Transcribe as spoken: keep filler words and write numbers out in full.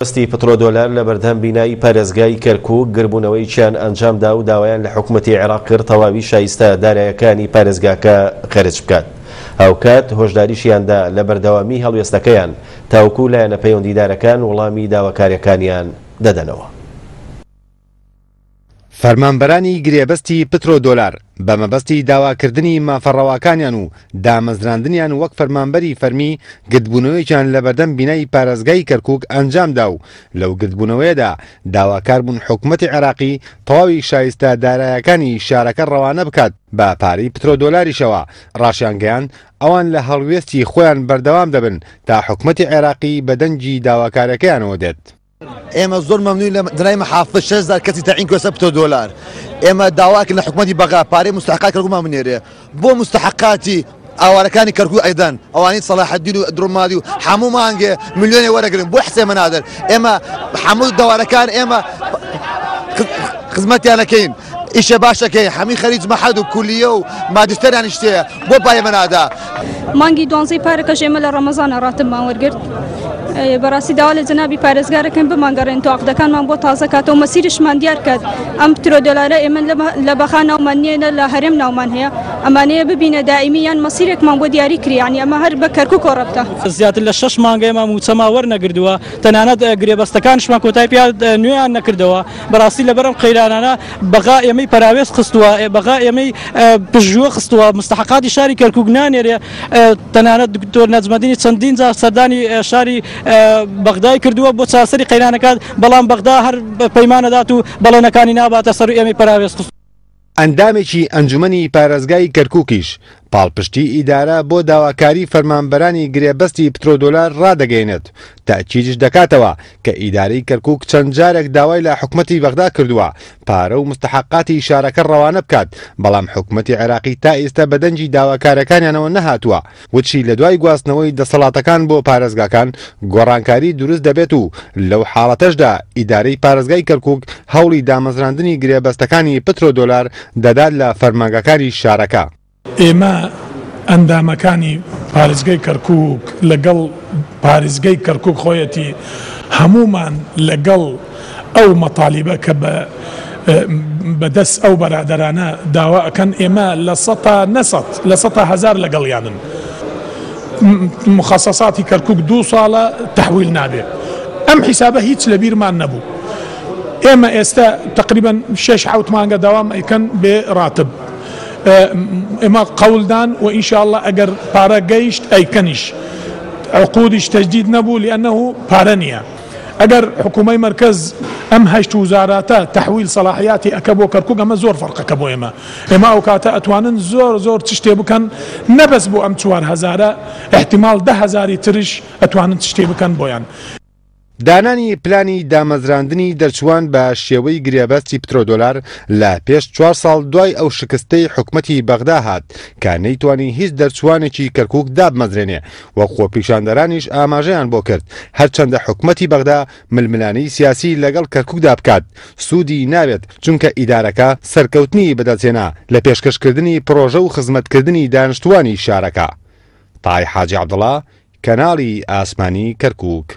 بەستی پترۆدۆلار لە بەردەم بینای پارێزگای کەرکوک گربوونەوەیەکیان ئەنجامدا و داوایان لە حکومەتی عێراق کرد تەواوی شایستە دارایەکانی پارێزگاکە خەرج بکات. هاوکات هۆشداریشیاندا لە بەردەوامی هەڵوێستەکەیان تاوەکو لایەنە پەیوەندیدارەکان وەڵامی داواکاریەکانیان دەدەنەوە. فەرمانبەرانی گرێبەستی پترۆدۆلار بە مەبەستی داواکردنی مافە ڕەواکانیان و دامەزراندنیان وەک فەرمانبەری فەرمی گردبوونەوەیەکیان لەبەردەم بینای پارێزگای کەرکوک ئەنجامدا و لەو گردبوونەوەیەدا داواکار بوون حکومەتی عێراقی تەواوی شایستە دارایەکانی شارەکە ڕەوانە بکات بە پارەی پترۆدۆلاریشەوە. ڕاشیانگەیاند ئەوان لە هەڵوێستی خۆیان بەردەوام دەبن تا حکومەتی عێراقی بە دەنگی داواکارەکەیانەوە دێت. ئێمە زۆر مەمنون لە جنای محافظ شەش هەزار کەسی تەعین کردووە پترۆدۆلار. ئێمە داواکرد لە حکومەتی بەغا پارەی مستحقات کەرکوکمان بنێرێ بۆ مستحقاتی ئاوارەکانی کەرکوک ئەیدەن ئەوانەی سەلاحەدین و درۆمادی و هەموو مانگێ ملیۆنێ وەرەگرن بۆ حسێمە نادەن. ئێمە هەموو دەوارەکان ئێمە خزمەتیانەکەین، ئیشە باشەکەین، هەمووی خەریج مەحەد و کولیە و ماجستەریان شتەیە بۆ پارێمە نادا. مانگی دوانزەی پارەکەش ئێمە لە ڕەمەزانە ڕاتبمان وەرگرت. بەڕاستی داوا لە جەنابی پارێزگارەکەن بمانگەڕێن تو عقدەکانمان بۆ تازە کاتەوە مەسیرشمان دیار کات. ئەم پترۆدۆلارە ئێمە لە بەخا ناومان نییە لە هەرێم ناومان هەیە، ئەمانەیە ببینە دائیمی یان مەسیرێکمان بۆ دیاری کری، یعنی ئەمە هەر بە کەرکوک ڕەبتە. زیاتر لە شەش مانگە ئێمە موچەما وەرنەگردووە، تەنانەت گرێبەستەکانشمان کۆتایی پیا نوێیان نەکردەوە. بەڕاستی لەبەرم قەیرانانە بەغا ئێمەی پەراوێز خستووە، بەغا ئێمەی پژووە خستووە، مستحقاتی شاری کەرکوک نانێرێ. تەنانەت دکتۆر نەجمەدینی چەندین جار سەردانی شاری بەغدای کردووە بۆ چارەسەری قەیرانەکات، بەڵام بەغدا هەر پەیمانەدات و بەڵێنەکانی ناباتە سەر و ئێمەی پەراوێز خستووە. ئەندامێکی ئەنجومەنی پارێزگای کەرکوکیش پاڵپشتی ئیدارە بۆ داواکاری فەرمانبەرانی گرێبەستی پترۆدۆلار ڕادەگەیەنێت، تەئکیدیش دەکاتەوە کە ئیدارەی کەرکوک چەند جارێک داوای لە حکومەتی بەغدا کردووە پارە و مستحقاتی شارەکە ڕەوانە بکات، بەڵام حکومەتی عێراقی تا ئێستا بە دەنگی داواکارەکانیانەوە نەهاتووە. وتشی لە دوای گواستنەوەی دەسەڵاتەکان بۆ پارێزگاکان گۆڕانکاری دروست دەبێت و لەو حاڵەتەشدا ئیدارەی پارێزگای کەرکوک هەوڵی دامەزراندنی گرێبەستەکانی پترۆدۆلار دەدات لە فەرمانگەکانی شارەکە. ئێمە ئەندامەکانی پارێزگای کەرکوک لەگەڵ پارێزگای کەرکوک خۆیەتی هەمومان لەگەڵ ئەو مەتالیبە کە بە بەدەست ئەو بەرادەرانە داوا ئەکەن ئێمە لە سەتا نەسەد لە سەتا هەزار لەگەڵیانن. مخصصاتی کەرکوک دوو ساڵە تەحویل نابێت. ئەم حیسابە هیچ لەبیرمان نەبوو. ئێمە ئێستا تقریبا شەش حەوت مانگە داوام ئەیکەن بێ ڕاتب. ئێمە قەولدان و ئینشاءالله ئەگەر پارە گەیشت ئەیکەنیش، عقودیش تەجدید نەبوو لأنه پارە نییە. ئەگەر حکوومەی مرکز ئەم هەشت وزاراتە تەحویل سەلاحیاتی ئەکە بۆ کەرکوک ئەمە زۆر فەرقەکە بۆ ئێمە. ئێمە ئەو کاتە ئەتوانن زۆر زۆر چشتێ بکەن، نەبەس بۆ ئەم چوار هەزارە، احتیمال دە هەزاری ترش ئەتوانن چشتێ بکەن بۆیان. دانانی پلانی دامەزراندنی دەرچوان بە شێوەی گرێبەستی پترۆدۆلار لە پێش چوار ساڵ دوای ئەو شکستەی حکومەتی بەغدا هات کە نەیتوانی هیچ دەرچوانێکی کەرکوک دابمەزرێنێ و خۆپیشاندەرانیش ئاماژەیان بۆ کرد هەرچەندە حکومەتی بەغدا ململانێی سیاسی لەگەڵ کەرکوکدا بکات سوودی ناوێت، چونکە ئیدارەکە سەرکەوتنی بەدەستهێنا لە پێشکەشکردنی پرۆژە و خزمەتکردنی دانیشتوانی شارەکە. تای حاجی عەبدوڵا، کەناڵی ئاسمانی کەرکوک.